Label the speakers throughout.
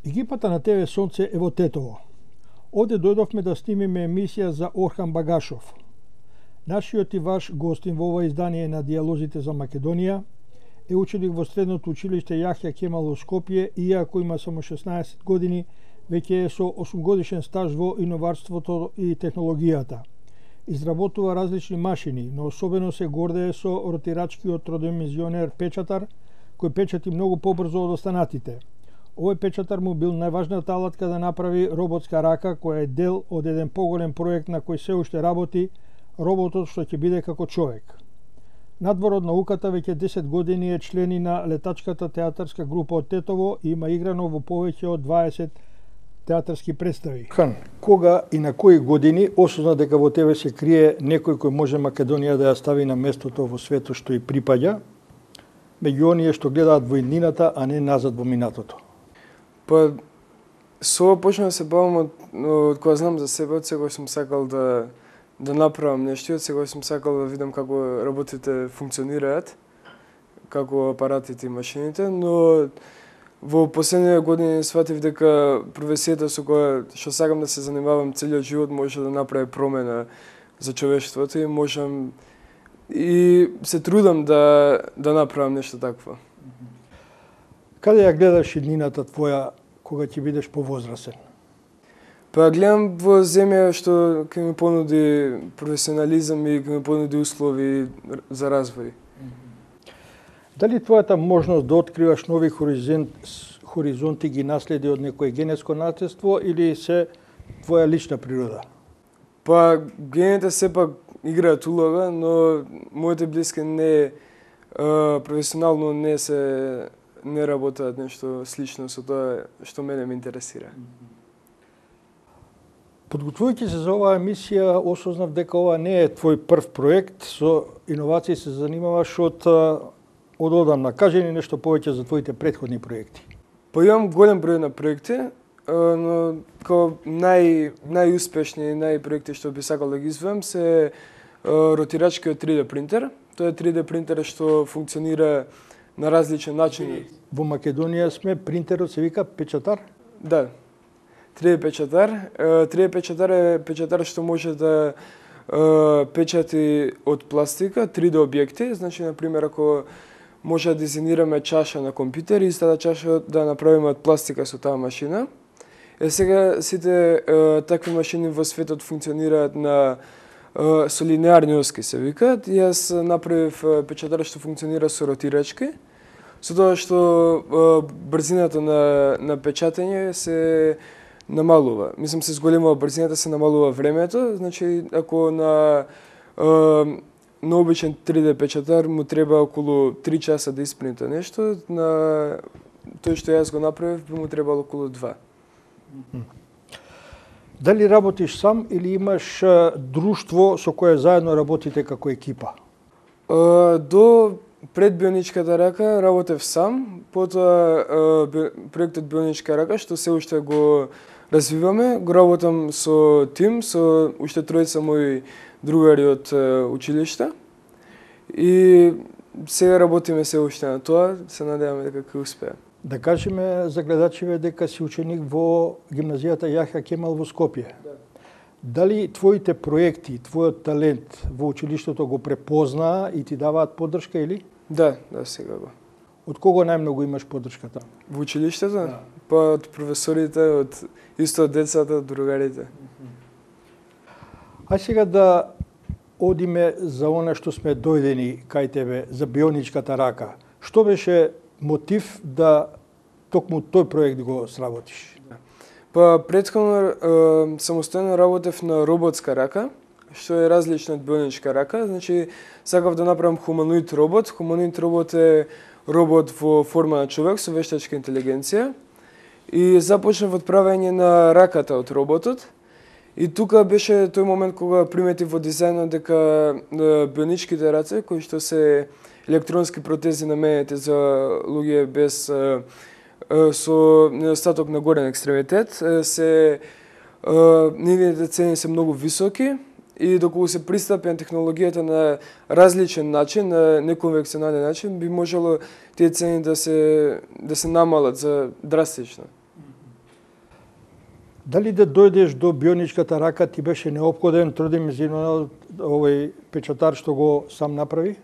Speaker 1: Екипата на ТВ Сонце е во Тетово. Овде дојдовме да снимиме емисија за Орхан Багашов. Нашиот и ваш гостин во ова издание на Дијалозите за Македонија е ученик во средното училиште Јахја Кемал во Скопје, иако има само 16 години, веќе е со 8-годишен стаж во иноварството и технологијата. Изработува различни машини, но особено се гордее со ротирачкиот тродимenzионер печатар, кој печати многу побрзо од останатите. Овој печатар му бил најважната алатка да направи роботска рака, која е дел од еден поголем проект на кој се уште работи, роботот што ќе биде како човек. Надвор од науката, веќе 10 години е член и на летачката театарска група од Тетово и има играно во повеќе од 20 театарски представи. Кога и на кои години осозна дека во тебе се крие некој кој може Македонија да ја стави на местото во светот што и припаѓа, меѓу оние што гледаат во иднината, а не назад во минатото?
Speaker 2: Па, со ова почнав да се бавам од кога знам за себе, од секој сум сакал да направам нешто, од секој сум сакал да видам како работите функционираат, како апаратите и машините, но во последните години сватив дека професијата со која што сакам да се занимавам целиот живот може да направи промена за човештвото и можам и се трудам да направам нешто такво.
Speaker 1: Каде ја гледаш иднината твоја кога ќе бидеш повозрасен?
Speaker 2: Па гледам во земја што ќе ми понуди професионализам и ќе ми понуди услови за развој.
Speaker 1: Дали твојата можност да откриваш нови хоризонти ги наследи од некое генетско наследство или се твоја лична природа?
Speaker 2: Па гените сепак играат улога, но моите блиски не професионално не работат нешто слично со тоа што мене ме интересира.
Speaker 1: Подготвувајќи се за оваа емисија, осознав дека ова не е твој прв проект, со иновации се занимаваш од одамна. Кажи ни нешто повеќе за твоите претходни проекти.
Speaker 2: Па имам голем број на проекти, но како најуспешни проекти што би сакал да ги изведам се ротирачкиот 3D принтер. Тоа е 3D принтер што функционира на различен начин.
Speaker 1: Во Македонија сме, принтерот се вика печатар?
Speaker 2: Да. 3D печатар. 3D печатар е печатар што може да печати од пластика 3D објекти. Значи, например, ако може да дизајнираме чаша на компјутер и таа чаша да направиме од пластика со таа машина. Сега сите такви машини во светот функционираат со линеарни оски се викаат и јас направив печатар што функционира со ротирачки, со тоа што брзината на печатење се намалува. Мислам се зголемува брзината, се намалува времето, значи ако на обичен 3D печатар му треба околу 3 часа да испринта нешто, на тој што јас го направив би му требало околу 2.
Speaker 1: Дали работиш сам или имаш друштво со кое заедно работите како екипа?
Speaker 2: До пред бионичката рака работев сам, потоа проектот бионичка рака што се уште го развиваме, го работам со тим, со уште тројца мои другари од училиште и сега работиме се уште на тоа, се надеваме дека ќе успее.
Speaker 1: Да кажеме за гледачите дека си ученик во гимназијата Јахја Кемал во Скопје.
Speaker 2: Да.
Speaker 1: Дали твоите проекти, твојот талент во училиштето го препознаа и ти даваат поддршка или?
Speaker 2: Да, сега го.
Speaker 1: Од кого најмногу имаш поддршката?
Speaker 2: Во училиштето? Да. Па од професорите, исто од децата, од другарите.
Speaker 1: Ај сега да одиме за она што сме дојдени кај тебе, за бионичката рака. Што беше мотив да токму тој проект го сработиш?
Speaker 2: Па претходно самостојно работев на роботска рака, што е различно од бионичка рака. Значи, сакав да направам хуманоид робот. Хуманоид робот е робот во форма на човек со вештачка интелигенција. И започнав од правење на раката од роботот. И тука беше тој момент кога приметив во дизајнот дека бионичките раце, кои што се електронски протези наменети за луѓе без со недостаток на горен екстремитет, нивните цени се многу високи и доколку се пристапи на технологијата на различен начин, на неконвенционален начин, би можело тие цени да се намалат за драстично.
Speaker 1: Дали да дојдеш до бионичката рака ти беше неопходен тродимenzионален овој печатар што го сам направи?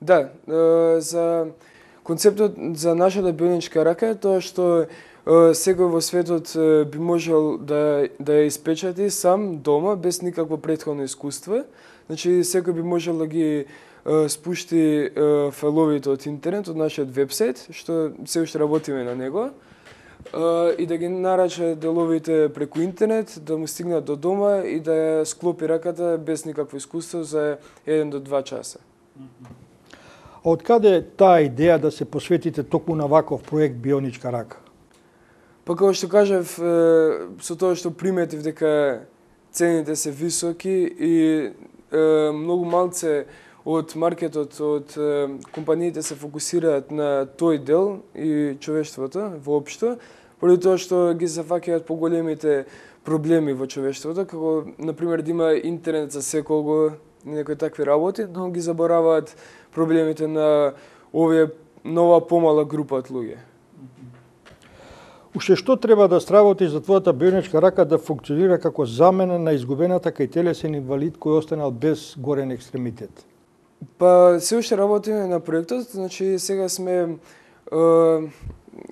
Speaker 2: Да, за концептот за нашата бионичка рака е тоа што секој во светот би можел да ја испечати сам дома без никакво претходно искуство. Значи секој би можел да ги спушти файловите од интернет, од нашиот вебсайт, што се уште работиме на него, и да ги нарача деловите преку интернет, да му стигнат до дома и да ја склопи раката без никакво искуство за 1 до 2 часа.
Speaker 1: А од каде таа идеја да се посветите токму на ваков проект Бионичка рака?
Speaker 2: Па како што кажав, со тоа што приметив дека цените се високи и многу малце од маркетот, од компаниите се фокусираат на тој дел и човештвото воопшто, поради тоа што ги зафаќаат поголемите проблеми во човештвото, како например да има интернет за секого, некои такви работи, но ги забораваат проблемите на нова помала група од луѓе.
Speaker 1: Уште што треба да сработи за твојата бионичка рака да функционира како замена на изгубената кај телесен инвалид кој останал без горен екстремитет?
Speaker 2: Па се уште работиме на проектот, значи сега сме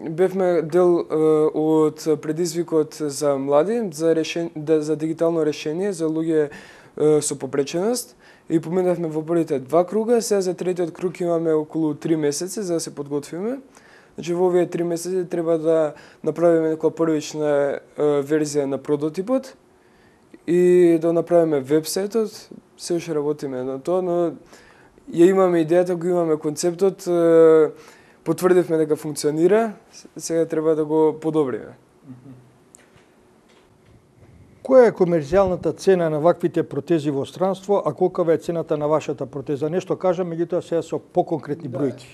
Speaker 2: бевме дел од предизвикот за млади за дигитално решение за луѓе со попреченост и поминавме во првите 2 круга, сега за третиот круг имаме околу 3 месеци за да се подготвиме. Значи во овие 3 месеци треба да направиме некоја првична верзија на прототипот и да направиме вебсајтот. Се уште работиме на тоа, но ја имаме идејата, го имаме концептот, потврдивме дека функционира, сега треба да го подобриме.
Speaker 1: Која е комерцијалната цена на ваквите протези во странство, а колкава е цената на вашата протеза? Нешто кажа, меѓутоа сега со поконкретни бројки.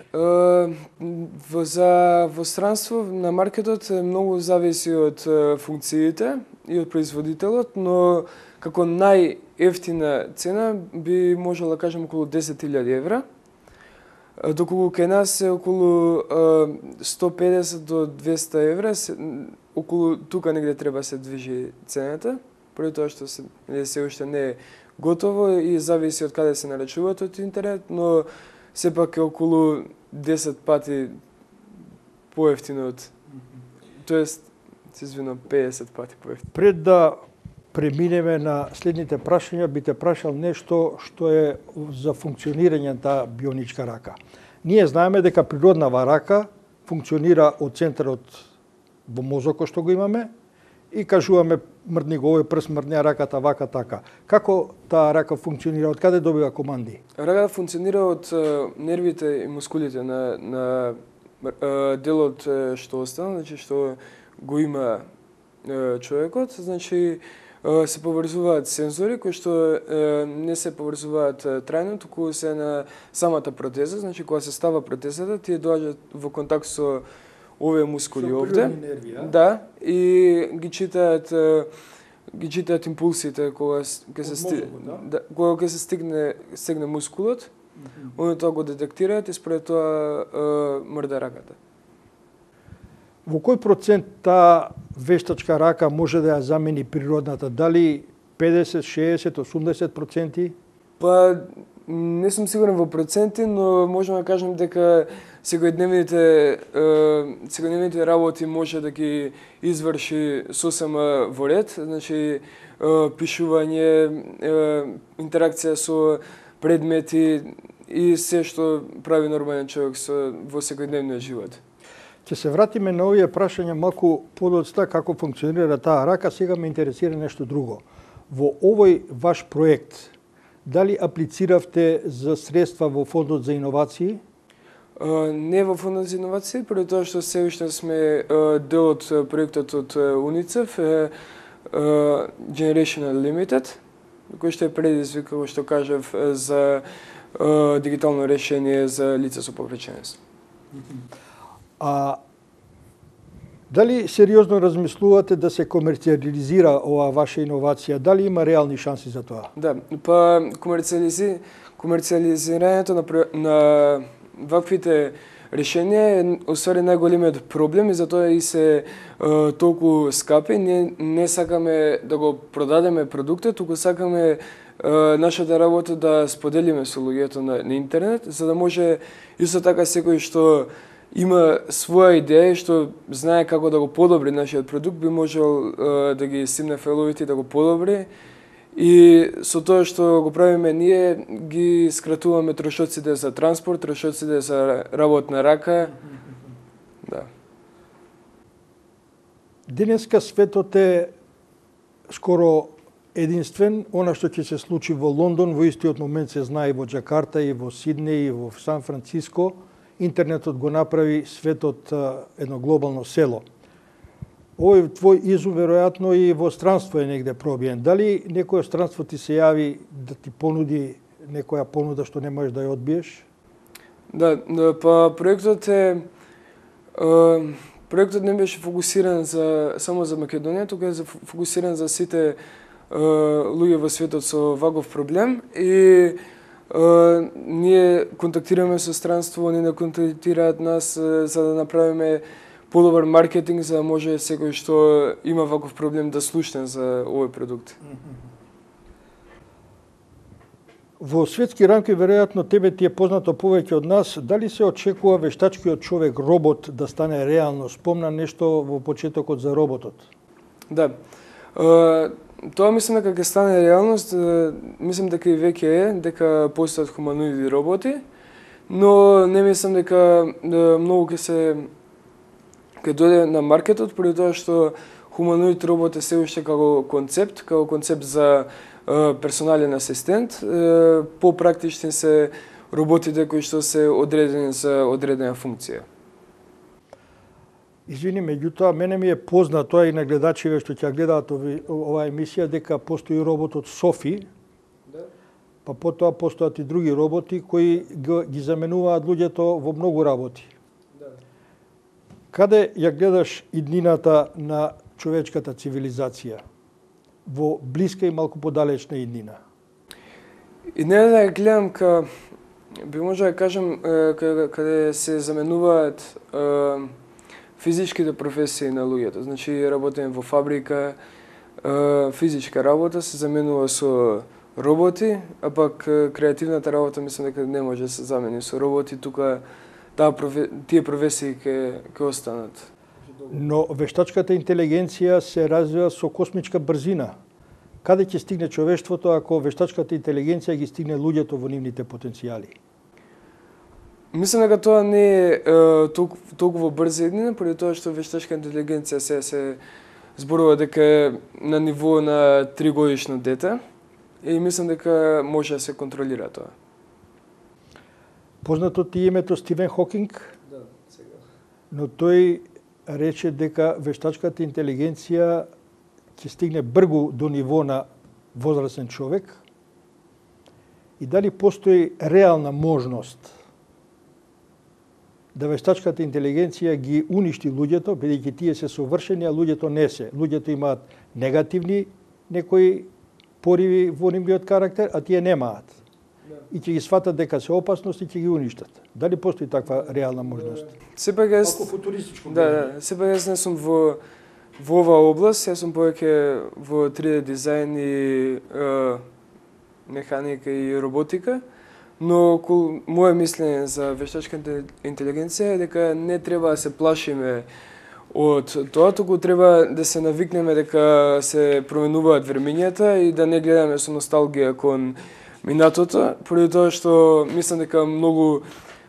Speaker 2: Во странство на маркетот многу зависи од функциите и од производителот, но како најефтина цена би можела да кажем околу 10.000 евра, доколку кај нас е околу 150 до 200 евра, околу тука негде треба се движи цената, поради тоа што се уште не е готово и зависи од каде се нарачуваат од интернет, но сепак е околу 10 пати поевтино од, тоест, се извинувам, 50 пати поевтино.
Speaker 1: Пред да преминеме на следните прашања, би те прашал нешто што е за функционирање на таа бионичка рака. Ние знаеме дека природнава рака функционира од центарот во мозокот што го имаме и кажуваме мрдни го овој прст, мрдни раката, вака, така. Како таа рака функционира, од каде добива команди?
Speaker 2: Раката функционира од нервите и мускулите на делот што остана, значи што го има човекот, значи се поврзуваат сензори кои што не се поврзуваат трајно, туку се на самата протеза, значи кога се става протезата, тие доаѓаат во контакт со овие мускули овде. Да, и ги читаат импулсите кога ќе се стигне мускулот, они тоа го детектираат и според тоа мрда раката.
Speaker 1: Во кој процент таа вештачка рака може да ја замени природната? Дали 50, 60, 80%?
Speaker 2: Па не сум сигурен во проценти, но можеме да кажем дека секојдневните работи може да ги изврши сосема во ред, значи пишување, интеракција со предмети и се што прави нормален човек во секојдневниот живот.
Speaker 1: Ќе се вратиме на овие прашања малку подоцна како функционира таа рака, сега ме интересира нешто друго. Во овој ваш проект, дали аплициравте за средства во Фондот за иновации?
Speaker 2: Не во Фондот за иновации, поради тоа што се уште сме дел од проектот од УНИЦЕФ, Generation Unlimited, кој што е предизвик, како што кажав, за дигитално решение за лица со повреченост.
Speaker 1: А дали сериозно размислувате да се комерцијализира оваа ваша иновација? Дали има реални шанси за тоа?
Speaker 2: Да, па комерцијализирањето на ваквите решение, усвари најголемиот проблем и затоа и се толку скапи. Ние не сакаме да го продадеме продуктот, туку сакаме нашата работа да споделиме со луѓето на интернет, за да може исто така секој што има своја идеја и што знае како да го подобри нашиот продукт, би можел да ги симне фейловите и да го подобри. И со тоа што го правиме ние, ги скратуваме трошоците за транспорт, трошоците за работна рака. Да.
Speaker 1: Денеска светот е скоро единствен. Она што ќе се случи во Лондон, во истиот момент се знае и во Џакарта, и во Сиднеј, и во Сан Франциско. Интернетот го направи светот едно глобално село. Овој твој изум веројатно и во странство е негде пробиен. Дали некој странство ти се јави да ти понуди некоја понуда што не можеш да ја одбиеш?
Speaker 2: Да, па проектот не беше фокусиран само за Македонија, туку е фокусиран за сите луѓе во светот со ваков проблем и ние контактираме со странство, они не контактираат нас за да направиме подобар маркетинг, за да може секој што има ваков проблем да слушне за овој продукт.
Speaker 1: Во светски рамки веројатно тебе ти е познато повеќе од нас, дали се очекува вештачкиот човек робот да стане реално? Спомна нешто во почетокот за роботот.
Speaker 2: Да. Тоа мислам дека ќе стане реалност, мислам дека и веќе е, дека постојат хуманоиди роботи, но не мислам дека многу ќе дојде на маркетот, поради тоа што хуманоид робот е се уште како концепт за персонален асистент. Попрактични се роботите кои што се одредени за одредена функција.
Speaker 1: Извини, меѓутоа, мене ми е познато, и на гледачите што ќе гледаат оваа емисија, дека постои роботот Софи, па потоа постојат и други роботи кои ги заменуваат луѓето во многу работи. Каде ја гледаш иднината на човечката цивилизација? Во блиска и малку подалечна иднина?
Speaker 2: Иднината ја гледам би може да кажем, каде се заменуваат физичките професии на луѓето. Значи, работење во фабрика, физичка работа се заменува со роботи, а пак креативната работа мислам дека не може да се замени со роботи, тука тие професии ќе останат.
Speaker 1: Но вештачката интелигенција се развива со космичка брзина. Каде ќе стигне човештвото ако вештачката интелигенција ги стигне луѓето во нивните потенцијали?
Speaker 2: Мислам дека тоа не е толку брза иднина, поради тоа што вештачка интелигенција се зборува дека е на ниво на 3-годишно дете и мислам дека може да се контролира тоа.
Speaker 1: Познато ти името Стивен Хокинг?
Speaker 2: Да, сега.
Speaker 1: Но тој рече дека вештачката интелигенција ќе стигне брзо до ниво на возрастен човек и дали постои реална можност да вештачката интелигенција ги уништи луѓето, бидејќи тие се совршени, а луѓето не се. Луѓето имаат негативни некои пориви во нивниот карактер, а тие немаат. И ќе ги сватат дека се опасност и ќе ги уништат. Дали постои таква реална можност?
Speaker 2: Сепак јас
Speaker 1: футуристичко.
Speaker 2: сепак јас не сум во оваа област, јас сум повеќе во 3D дизајн и механика и роботика. Но моје мислење за вештачката интелигенција е дека не треба да се плашиме од тоа, туку треба да се навикнеме дека се променуваат времењата и да не гледаме со носталгија кон минатото, поради тоа што мислам дека многу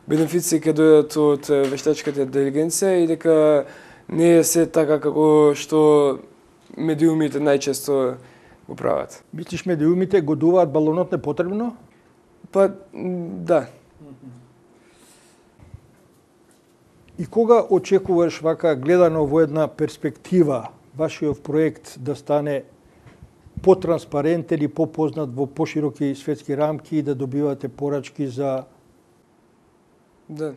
Speaker 2: бенефиции ќе дојдат од вештачката интелигенција и дека не е се така како што медиумите најчесто го прават.
Speaker 1: Мислиш медиумите годуваат балонот непотребно?
Speaker 2: Па, да.
Speaker 1: И кога очекуваш вака гледано во една перспектива вашиот проект да стане потранспарентен и попознат во пошироки светски рамки и да добивате порачки за...
Speaker 2: Да.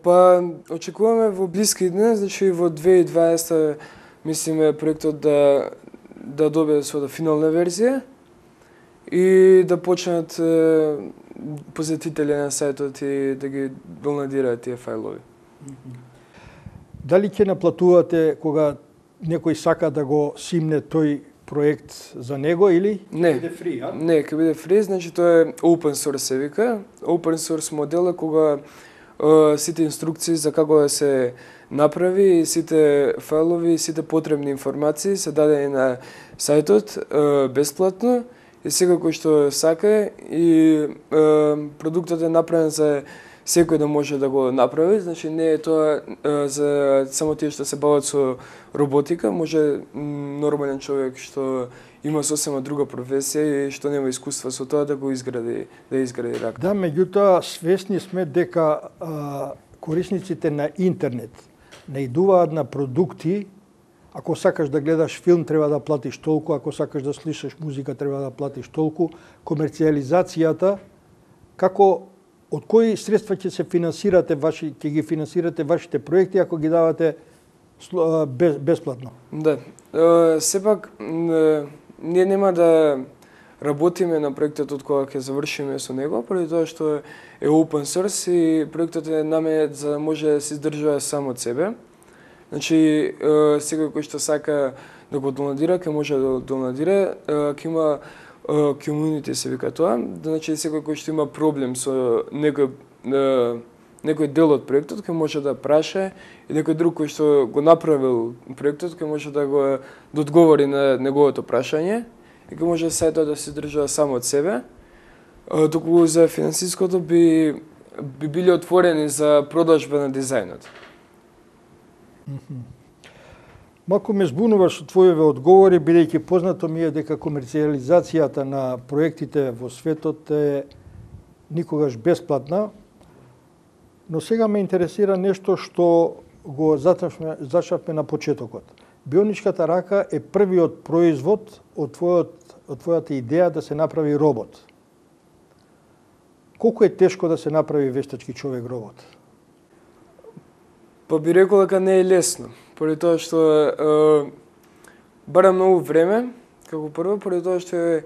Speaker 2: Па, очекуваме во блиски дни, значи во 2020 мислиме проектот да добие своја финална верзија и да почнат посетители на сајтот и да ги донадираат тие фајлови.
Speaker 1: Дали ќе наплатувате кога некој сака да го симне тој проект за него или
Speaker 2: Не.
Speaker 1: биде фри, а?
Speaker 2: Не, ќе биде фри, значи тоа е open source се вика. Open source модел е кога сите инструкции за како да се направи и сите фајлови и сите потребни информации се дадени на сајтот бесплатно и секој кој што сака и продуктот е направен за секој да може да го направи, значи не е тоа за само тие што се бават со роботика, може нормален човек што има сосема друга професија и што нема искуство со тоа да го изгради, рака.
Speaker 1: Да, меѓутоа свесни сме дека корисниците на интернет наидуваат на продукти. Ако сакаш да гледаш филм, треба да платиш толку, ако сакаш да слушаш музика, треба да платиш толку. Комерцијализацијата, од кои средства ќе се финансирате ќе ги финансирате вашите проекти ако ги давате бесплатно?
Speaker 2: Да. Сепак ние нема да работиме на проектот од кога ќе завршиме со него, поради тоа што е open source и проектот е наменет за да може да се издржува само од себе. Значи, секој кој што сака да го донадира, ќе може да донадира, ќе има community се вика тоа, значи секој кој што има проблем со некој дел од проектот ќе може да праша и некој друг кој што го направил проектот ќе може да го одговори на неговото прашање и ќе може сајтот да се држува само од себе. Доколку за финансиското би били отворени за продажба на дизајнот.
Speaker 1: Малку ме збунуваш со твоеве одговори, бидејќи познато ми е дека комерцијализацијата на проектите во светот е никогаш бесплатна, но сега ме интересира нешто што го зачнавме на почетокот. Бионичката рака е првиот производ од твојата идеја да се направи робот. Колку е тешко да се направи вештачки човек робот?
Speaker 2: Па би рекол дека не е лесно, поради тоа што бара многу време, како прво, поради тоа што е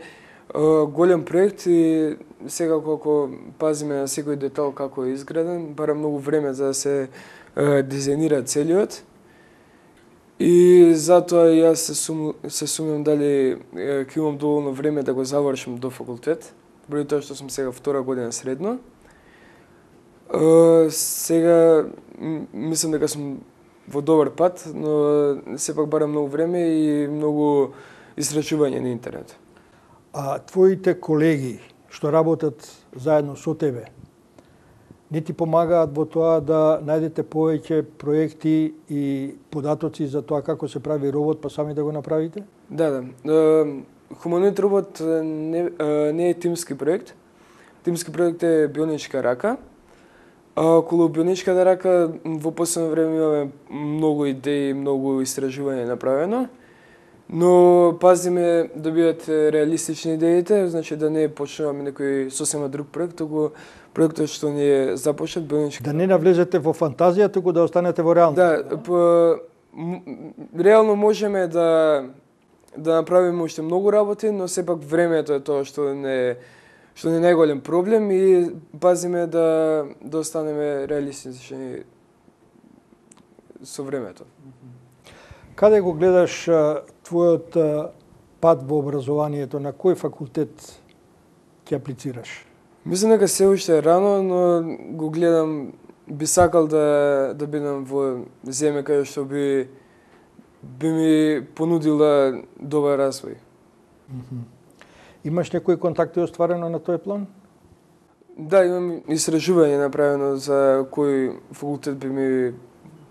Speaker 2: голем проект и сега колку пазиме на секој детал како е изграден, бара многу време за да се дизајнира целиот. И затоа јас се сумнам дали ќе имам доволно време да го завршам до факултет, поради тоа што сум сега втора година средно. Сега мислам дека сум во добар пат, но сепак бара многу време и многу истрачување на интернет.
Speaker 1: А твоите колеги што работат заедно со тебе, не ти помагаат во тоа да најдете повеќе проекти и податоци за тоа како се прави робот, па сами да го направите?
Speaker 2: Да. Хуманоид робот не е тимски проект. Тимски проект е бионичка рака. Околу бионичката рака во последно време имаме многу идеи, многу истражување направено, но пазиме да бидат реалистични идеите, значи да не почнуваме некој сосема друг проект, туку проектот што ни е започнат бионичка.
Speaker 1: Да не навлезете во фантазија, туку да останете во реалност.
Speaker 2: Да, реално можеме да направиме уште многу работи, но сепак времето е тоа што не е најголем проблем и пазиме да останеме реалистични со времето.
Speaker 1: Каде го гледаш твојот пат во образованието? На кој факултет ќе аплицираш?
Speaker 2: Мислам дека се уште е рано, но го гледам, би сакал да бидам во земја каде што би ми понудила добар развој.
Speaker 1: Имаш некои контакти остварено на тој план?
Speaker 2: Да, имам истражување направено за кој факултет би ми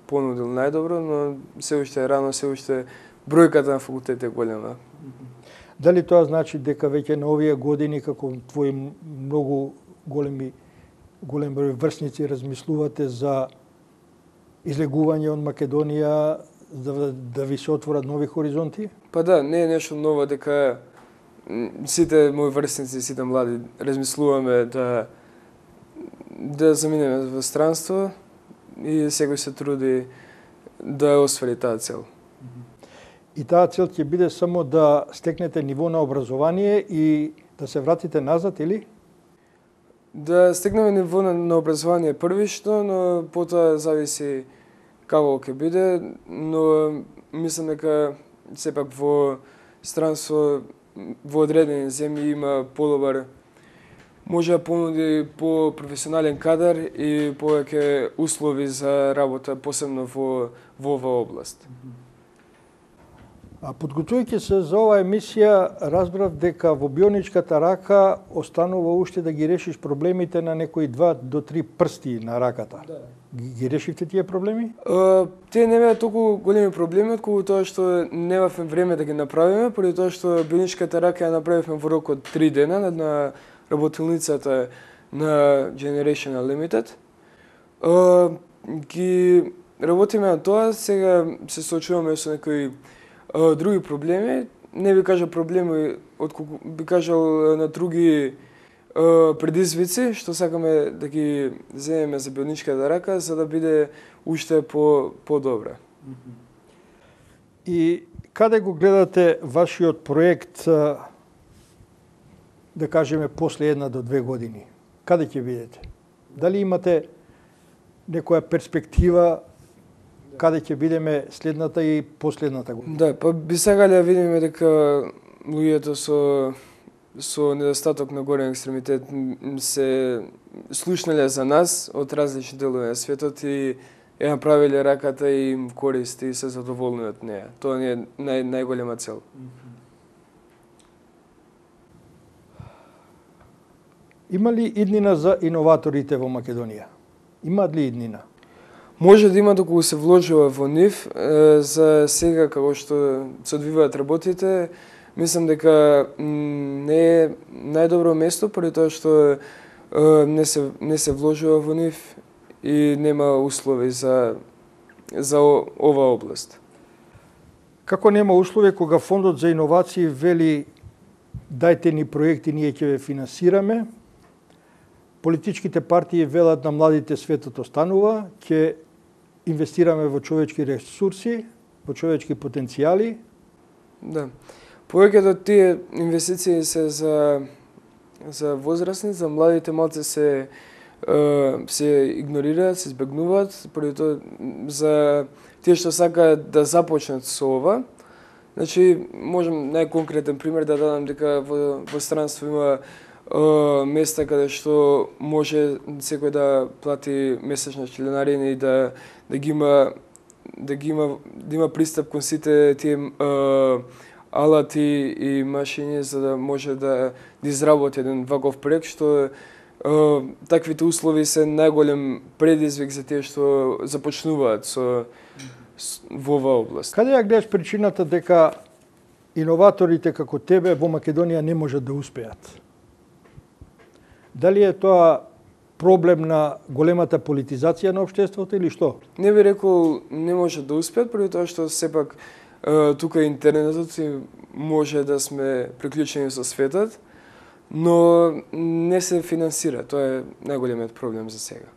Speaker 2: понудил најдобро, но се уште е рано, се уште бројката на факултет е голема.
Speaker 1: Дали тоа значи дека веќе на овие години, како твои многу голем број врсници, размислувате за излегување од Македонија, да ви се отворат нови хоризонти?
Speaker 2: Па да, не е нешто ново дека сите мои врсници, сите млади, размислуваме да заминеме во странство и секој се труди да оствари таа цел.
Speaker 1: И таа цел ќе биде само да стекнете ниво на образование и да се вратите назад, или?
Speaker 2: Да стигнеме ниво на образование првично, но потоа зависи како ќе биде, но мислам дека сепак во странство во одредени земји има подобар, може да понуди по-професионален кадар и повеќе услови за работа, посебно во оваа област.
Speaker 1: Подготвувајќи се за оваа емисија, разбрав дека во бионичката рака останува уште да ги решиш проблемите на некои 2 до 3 прсти на раката.
Speaker 2: Да.
Speaker 1: Ги решивте тие проблеми?
Speaker 2: Тие не беа толку големи проблеми, отколку тоа што немавме време да ги направиме, поради тоа што бионичката рака ја направивме во рок од 3 дена на работилницата на Generation Unlimited. Ги работиме на тоа, сега се соочуваме со некои други проблеми. Не би кажал проблеми, отколку би кажал на други предизвици, што сакаме да ги земеме за бионичката рака, за да биде уште по-добра.
Speaker 1: И каде го гледате вашиот проект, да кажеме, после 1 до 2 години? Каде ќе видите? Дали имате некоја перспектива каде ќе видиме следната и последната година?
Speaker 2: Да, па би сакале да видиме дека луѓето со недостаток на горен екстремитет се слушнале за нас од различни делови на светот и ја направиле раката и им користи и се задоволни од неја. Тоа ни е најголема цел.
Speaker 1: Има ли иднина за иноваторите во Македонија? Имаат ли иднина?
Speaker 2: Може да има доколку се вложува во нив. За сега, како што се одвиваат работите, мислам дека не е најдобро место, поради тоа што не се вложува во нив и нема услови за оваа област.
Speaker 1: Како нема услови кога Фондот за иновации вели дајте ни проекти, ние ќе ве финансираме, политичките партии велат на младите светот останува, ќе инвестираме во човечки ресурси, во човечки потенцијали.
Speaker 2: Да. Повеќето од тие инвестиции се за возрастни, за младите малце се игнорираат, се избегнуваат, поради тоа за тие што сакаат да започнат со ова. Значи, можам најконкретен пример да дадам дека во странство има места каде што може секој да плати месечна членарина и да има пристап кон сите тие алати и машини за да може да изработи еден ваков проект, што таквите услови се најголем предизвик за тие што започнуваат во оваа област.
Speaker 1: Каде ја гледаш причината дека иноваторите како тебе во Македонија не можат да успеат? Дали е тоа проблем на големата политизација на општеството или што?
Speaker 2: Не би рекол не може да успеат, поради тоа што сепак тука интернетот и може да сме приклучени со светот, но не се финансира. Тоа е најголемиот проблем за сега.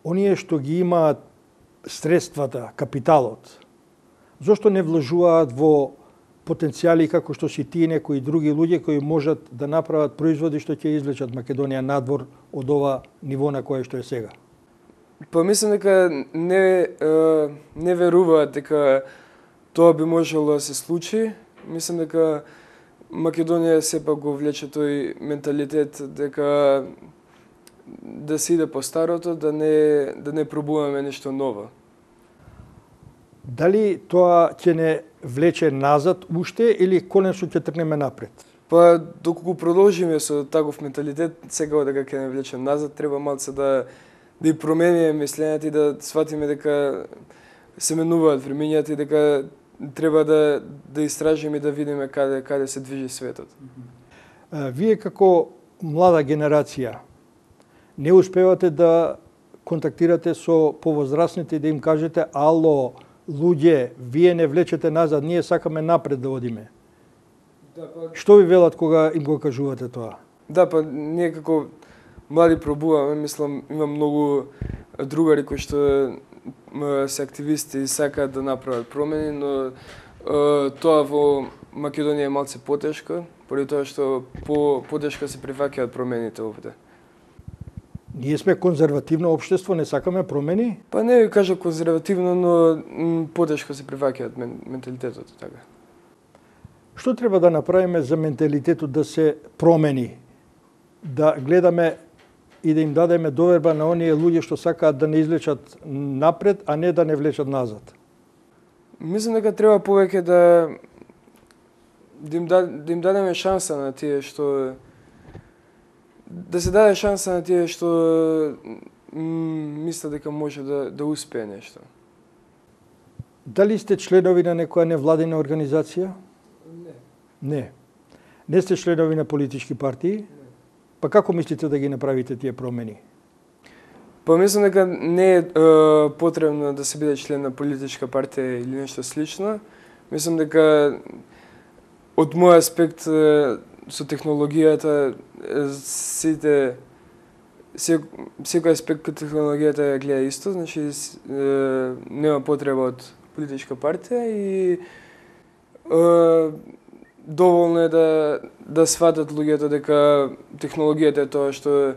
Speaker 1: Оние што ги имаат средствата, капиталот, зошто не вложуваат во потенцијали како што си тие некои други луѓе кои можат да направат производи што ќе извлечат Македонија надвор од ова ниво на кое што е сега?
Speaker 2: Па мислам дека не веруваат дека тоа би можело да се случи. Мислам дека Македонија сепак го влече тој менталитет дека да се иде по старото, да не пробуваме нешто ново.
Speaker 1: Дали тоа ќе не влече назад уште или конечно ќе тргнеме напред?
Speaker 2: Па доколку продолжиме со таков менталитет, секако дека ќе не влече назад, треба малце да и промениме мислењето и да сватиме дека се менуваат времењата и дека треба да истражиме и да видиме каде се движи светот.
Speaker 1: Вие како млада генерација не успевате да контактирате со повозрастните и да им кажете ало, луѓе, вие не влечете назад, ние сакаме напред да одиме.
Speaker 2: Да, па...
Speaker 1: Што ви велат кога им го кажувате тоа?
Speaker 2: Да, па ние како млади пробуваме, мислам, има многу другари кои што се активисти и сакаат да направат промени, но тоа во Македонија е малце потешко, поради тоа што потешко се прифаќаат промените овде.
Speaker 1: Ние сме конзервативно општество, не сакаме промени?
Speaker 2: Па не ви кажа конзервативно, но потешко се приваќаат менталитетот така.
Speaker 1: Што треба да направиме за менталитетот да се промени? Да гледаме и да им дадеме доверба на оние луѓе што сакаат да не излечат напред, а не да не влечат назад?
Speaker 2: Мислам дека треба повеќе да им дадеме шанса на тие што да се даде шанса на тие што мислат дека може да успее нешто.
Speaker 1: Дали сте членови на некоја невладина организација? Не. Не сте членови на политички партии? Па како мислите да ги направите тие промени?
Speaker 2: Па мислам дека не е потребно да се биде член на политичка партија или нешто слично. Мислам дека од мој аспект со технологијата секој аспект кај технологијата ја гледа исто, значи нема потреба од политичка партија и доволно е да сватат луѓето дека технологијата е тоа што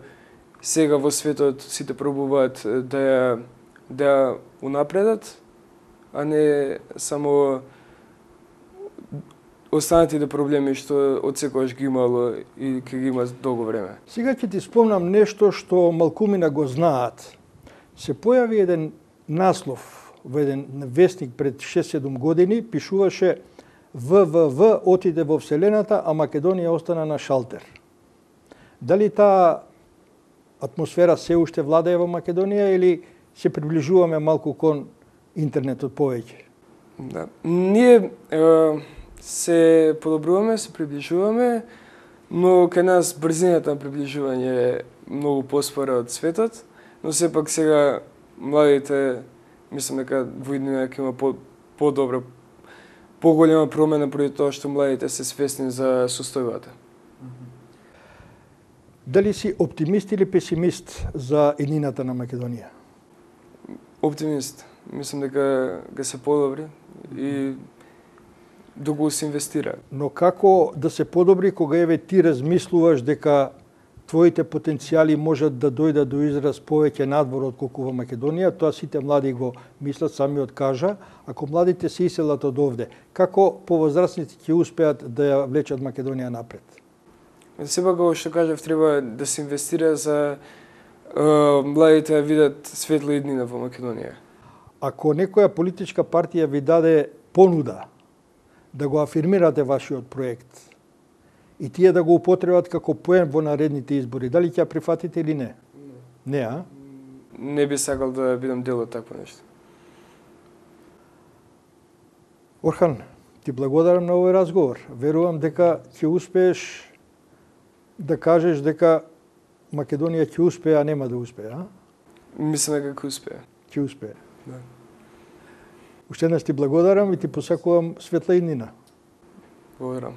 Speaker 2: сега во светот сите пробуваат да ја унапредат, а не само останатите проблеми што од секогаш ги имало и ќе ги има долго време.
Speaker 1: Сега ќе ти спомнам нешто што малкумина го знаат. Се појави еден наслов во еден вестник пред 6-7 години, пишуваше ВВВ отиде во Вселената, а Македонија остана на шалтер. Дали таа атмосфера се уште владее во Македонија или се приближуваме малку кон интернетот повеќе?
Speaker 2: Да. Ние се подобруваме, се приближуваме, но кај нас брзината на приближување е многу поспора од светот, но сепак сега младите, мислам дека во иднина ќе има подобра, поголема промена поради тоа што младите се свесни за состојбата.
Speaker 1: Дали си оптимист или песимист за иднината на Македонија?
Speaker 2: Оптимист. Мислам дека ќе се подобри и да се инвестира.
Speaker 1: Но како да се подобри кога еве ти размислуваш дека твоите потенцијали можат да дојдат до израз повеќе надвор отколку во Македонија, тоа сите млади го мислат, самиот кажа, ако младите се иселат од овде, како повозрастните ќе успеат да ја влечат Македонија напред?
Speaker 2: Сепак како што кажав, треба да се инвестира за младите да видат светла иднина во Македонија.
Speaker 1: Ако некоја политичка партија ви даде понуда да го афирмирате вашиот проект и тие да го употребат како поен во наредните избори, дали ќе ја прифатите или не? Не, а?
Speaker 2: Не би сакал да бидам дел од такво нешто.
Speaker 1: Орхан, ти благодарам на овој разговор. Верувам дека ќе успееш да кажеш дека Македонија ќе успее, а нема да успее, а?
Speaker 2: Мислам дека ќе успее.
Speaker 1: Ќе успее.
Speaker 2: Да.
Speaker 1: Уште еднаш ти благодарам и ти посакувам светла иднина.
Speaker 2: Благодарам.